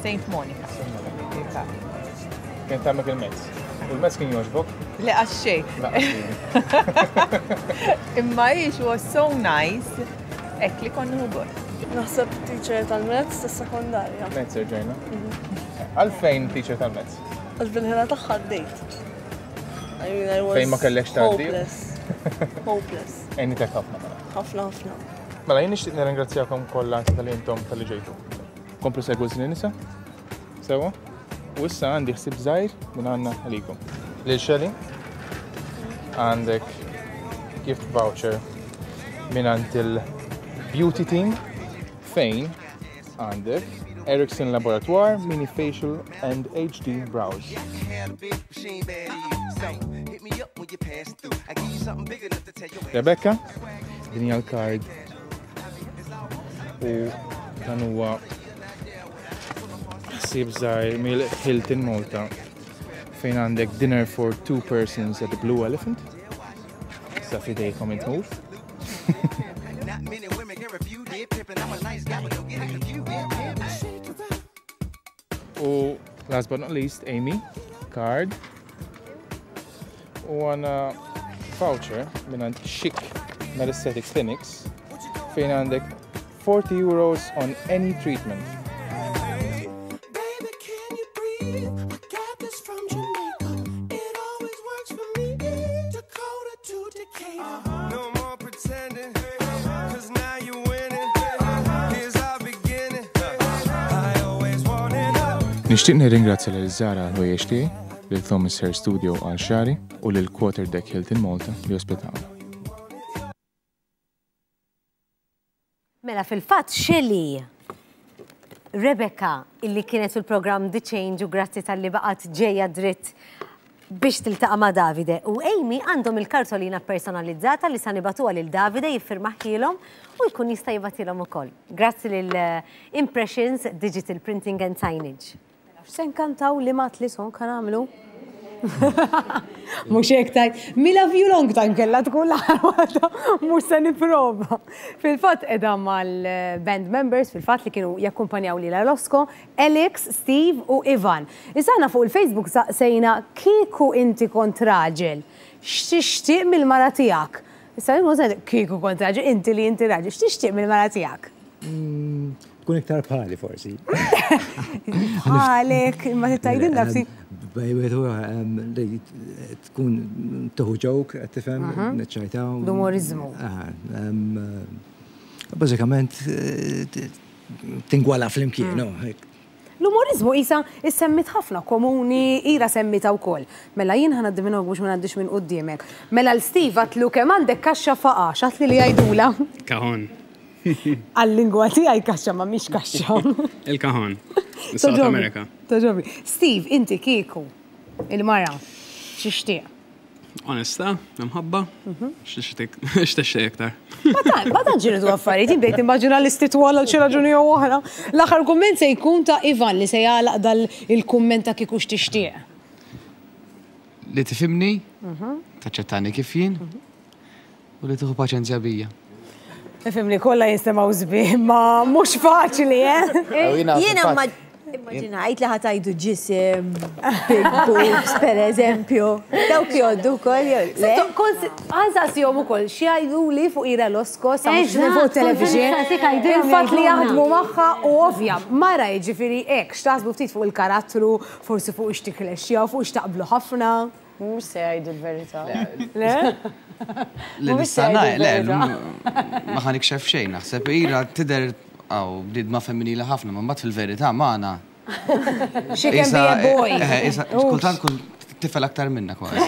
Saint Monica. Kien tagħmek il-mezz. U l-mezz kien jogħġbok? Le għax xejn. Imma hi she was so nice, hekk li konna gost. Naħseb teacher tal-mezz tas-sekondarja. Mezz irġajna. Għalfejn teacher tal-mezz? Għax bil-ħela tagħha għaddejt. I mean, I was Fejn ma kellekx tgħaddi? Hopeless. Hopeless. Għenitek ħafna mela. Ħafna ħafna. Mela jien nixtieq nirringrazzjakom kollha tal-li intom tal-li ġejtu. Komplu segwu Żnien Nisa. Sewa? U issa għandi ħsieb żgħir minn għandna għalikom. Lil Shelly għandek gift voucher minn għand il-Beauty Team fejn għandek Erickson Laboratoire Mini Facial and H D Brows. Rebecca, din hija l-card u dan huwa ħsieb żgħir mill-Hilton Malta fejn għandek dinner for two persons at the Blue Elephant. Sa fidejkom intmur. U last but not least, Amy, card. U għandna voucher minn għand Chic Med-Aesthetic Clinics fejn għandek forty euros on any treatment. Nixtieq nirringrazzja lil Zara għall-ħwejjeġ tiegħi, lil Thomas Hair Studio għal xagħri u lil Quarter Deck Hilton Malta li ospitawna. Mela fil-fatt Shelly, Rebecca illi kienet fil-programm The Change u grazzi tal-li baqgħet ġejja dritt biex tiltaqa' ma' Davide u Amy għandhom il-kartolina personalizzata li sa nibatuha lil Davide jiffirmaħilhom u jkun jista' jibgħatilhom ukoll. Grazzi lil Impressions Digital Printing and Signage. Se nkantaw li mat li son kan għamlu? Mhux hekk tajt. Mi love you long time kellha tkun l-aħħar waħda, mhux se nipprova. Fil-fatt qiegħda mal-band members, fil-fatt li kienu jakkumpanjaw lila Losco, Alex, Steve u Ivan. Issa aħna fuq il-Facebook saqsejna kieku inti kont raġel, x'tixtieq mill-mara tiegħek? Issa jien mhux kieku kont raġel, inti li inti raġel, x'tixtieq mill-mara tiegħek? Tkun iktar bħali forsi. Bħalek, imma tgħidilna ftit. Tkun tuħu ġok, qed tifhem, niċċajtaw. L-umorizmu. Bażikament eh, tingwala flimkien. No? L-umorizmu isa issemmit ħafna komuni, ira semmita wkoll. Mela jien ħa ngħaddi minn biex ma ngħaddix minn quddiemek. Mela l-Steve għatlu kemm għandek kaxxa faqa, x'għatli li jgħidula. Cajón. Għal-lingwa tiegħi kaxxa ma mhix kaxxa. Il-cajón. South America. Togħġobni. Steve, inti kieku, il-mara, x'tixtieq? Onesta, mħabba, x'tixtieq iktar. Ma tant, ma tant ġiridu affarijiet, jien bdejt immaġina l-istitwal għal xi raġuni jew oħra. L-aħħar kumment se jkun ta' Ivan li se jagħlaq dal il-kumment ta' kieku x'tixtieq. Li tifhimni, taċċettani kif jien, u li tieħu paċenzja bija. Ifhimni kollha jinstemgħu sbieħ, ma mhux faċli, eh? Jiena ma immaġinajt li ħa tgħidu ġisem, big boobs, per eżempju. Dawk jgħoddu wkoll, le? Għansaqsihom ukoll xi li fuq Ira Losco sa mhux Eżatt, fuq television. kont nistaqsik għajdilhom Il-fatt li jgħidulna. jaħdmu magħha u ovvja, mara jiġifieri hekk, x'taħsbu ftit fuq il-karattru, forsi fuq x'tiklexxja, fuq x'taqblu ħafna. Mhux se jgħidu l-verità. Le? Li Mhumiex se nista' jgħidu ngħid, le, l-verità. ma ħa nikxef xejn, naħseb Ira tidher għaw bniedma femminili ħafna, ma mbagħad fil-verità magħna. She can be a boy. Eh, isa, kultant kun tifel aktar minna kważi.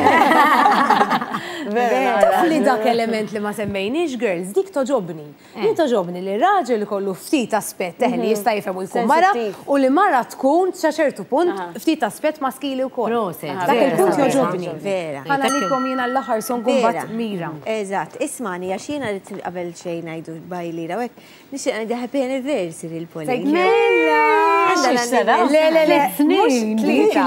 Taf li dak element li ma semmejniex, girls, dik togħġobni. Jien togħġobni li raġel kollu ftit aspett eh, li jista' jifhem u jkun mara Sensittiv. u li mara tkun sa ċertu punt ftit aspett maskili wkoll. Proset, Dak vera, il-punt vera. jogħġobni. Vera. Ħa nagħlikom jiena l-aħħar song Vera. mbagħad mira. Eżatt, ismani, għax jiena rrid qabel xejn ngħidu bye lira u hekk, nixtieq ngħidu happy anniversary il-Pauline. Mela! Għandha l-anniversary. Le, le, le, mhux Snin, tlieta.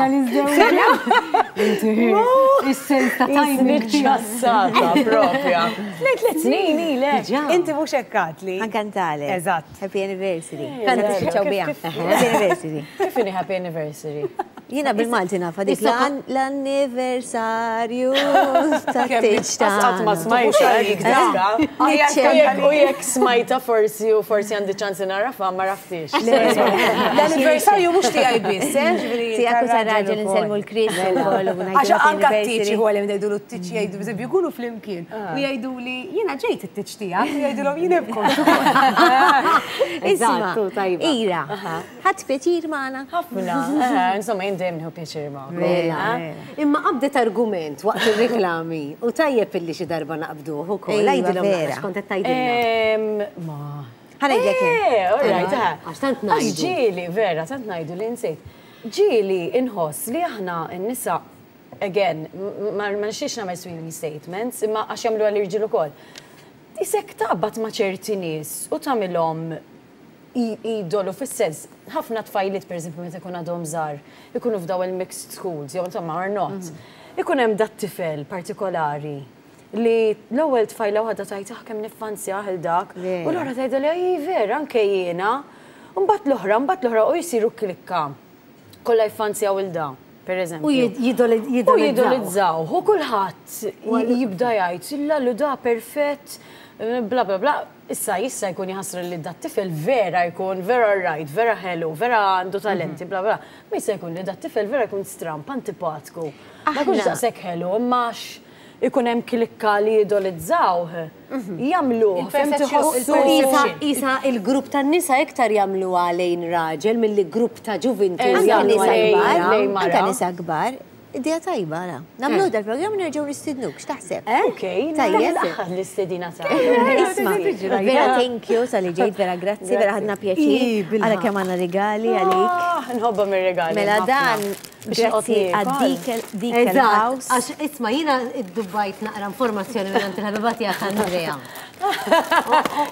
Is-sens ta' timing. Ċassata propja. Tliet tliet snin ilek. Inti mhux hekk għatli. Ħa nkantalek. Eżatt. Happy anniversary. Kanta Kanta kif- biha. kif- Happy anniversary. Kif inhi happy anniversary? Jiena bil-Malti nafa dik l-anniversarju ta' tiġ Qatt ma smajta dik diska. U jekk smajta forsi u forsi għandi ċansi narafa, ma raftix. L-anniversarju mhux tiegħi biss, eh? Ġifieri Tiegħek u tar-raġel tar-raġel insellmu l-Chris ukoll u ngħidu Għax happy anka t-tiċ anniversary. u għalem jgħidu l-tiċ jgħidu, bżeb jkunu flimkien. U jgħidu li jiena ġejt it-tiċ tiegħek, u jgħidulhom jien ibkom. Isma, Eżattu, tajba. Ira, ħadt pjaċir magħna. Ħafna. Eh, Insomma, jien dejjem nieħu pjaċir magħkom. Mela. Imma qabdet argument waqt ir-reklami u tajjeb illi xi darba naqbduh ukoll. Ejwa, Għidilhom vera. naqra x'kont qed tgħidilna. Em, Ma. Ħa ngħidlek jien. Eh, all right, eh. Għax tant Għax ngħidu. ġieli, vera, tant ngħidu li nsejt. Ġieli inħoss li aħna n-nisa, again, m- ma ma nixtiex nagħmel sweeping statements, imma għax jagħmlu għall-irġiel ukoll. Isek taqbad ma' ċerti nies u tagħmilhom i- idolu fis-sens, ħafna tfajliet pereżempju meta jkun għadhom żgħar, ikunu f'daw il-mixed schools, jew insomma or not. Ikun hemm dat tifel partikolari li l-ewwel tfajla waħda tgħid ah kemm niffanzjah il dak, u l-oħra tgħidha li ej vera anke jiena. U mbagħad l-oħra, mbagħad l-oħra u jsiru klikka. Kollha jiffanzjaw il da, per eżempju. U jid- U jidolizzaw. jidolizzaw. U kulħadd jibda jgħid, illa da perfett, bla bla bla. Issa jissa jkun jħassra li dat tifel vera jkun vera right, vera hello, vera għandu talenti, bla bla. Ma jista' jkun li dat tifel vera jkun stramp, antipatku. Ma jkunx Aħna- daqshekk hello, imma għax ikun hemm klikka li jidolizzaw, jagħmluh, fem tħossu. Isa, isa il-grupp tan nisa iktar jagħmlu għalejn raġel milli grupp ta' ġuvintu Eżatt, Anka jagħmlu nisa għalejn kbar, mara. lejn mara. anka nisa kbar, idea tajba, ara. Nagħmlu dal-programm nerġgħu nistidnuk, x'taħseb? Ok, Tajjeb. l-aħħar l-istedina ta' Isma, vera thank you talli ġejt, vera grazzi, vera ħadna pjaċir. Għala kemm għandna regali għalik. Ah, Nħobba mir-regali. Mela ħafna. dan, Biex grazzi noqgħod għad niekol. Dekel Eżatt, House. għax isma' jiena iddubbajt naqra informazzjoni minn il-ħabiba tiegħek Andrea.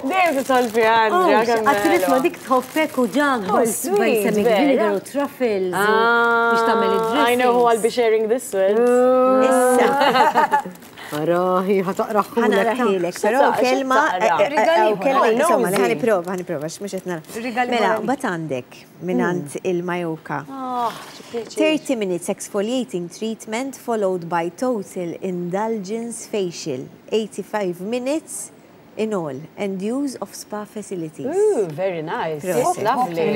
Dejjem titol fi Andrea. kemm Għattu isma' ħelwa. dik tħobbek u ġag, Oh, sweet, balsamic vera. vinegar u truffles u biex tagħmel Ah, I know who I'll be id-dressings. sharing this with. Issa, Arahi, ħa taqraħulek. ħa naqrahielek, però X'taqra? kelma, X'taqra? eh, eh, Rigali eh, kelma, ieħor. insomma, li Nosy. ħa nipprova, ħa nipprova, mhux qed nara. Rigali Mela, ieħor. bat għandek mingħand il-Majoka. Ah, xi pjaċir. thirty minutes exfoliating treatment followed by total indulgence facial. eighty-five minutes in all and use of spa facilities. Ooh, very nice. Proset. Lovely.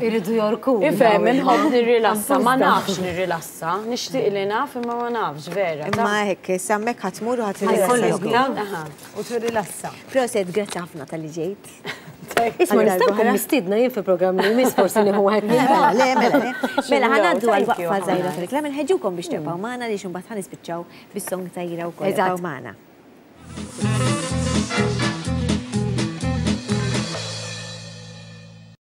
Iridu jorku. Ifhem, inħobb nirrilassa, ma nafx nirrilassa. Nixtieq li naf imma ma nafx, vera. Imma hekk, hemmhekk ħa tmur u ħa Ħajkollok, tirrilassa. U tirrilassa. Proset, grazzi ħafna talli ġejt. Isma' nistgħu nkun mistiedna jien fi programm li jmiss, forsi nieħu wieħed minn Mela, le, mela, le. Mela, ħa ngħaddu Thank għal you, waqfa ħafna. żgħira fil-reklam, nħeġġukom biex tibqgħu magħna li imbagħad ħa nispiċċaw bis-song ta' Ira wkoll. Eżatt. Ibqgħu magħna.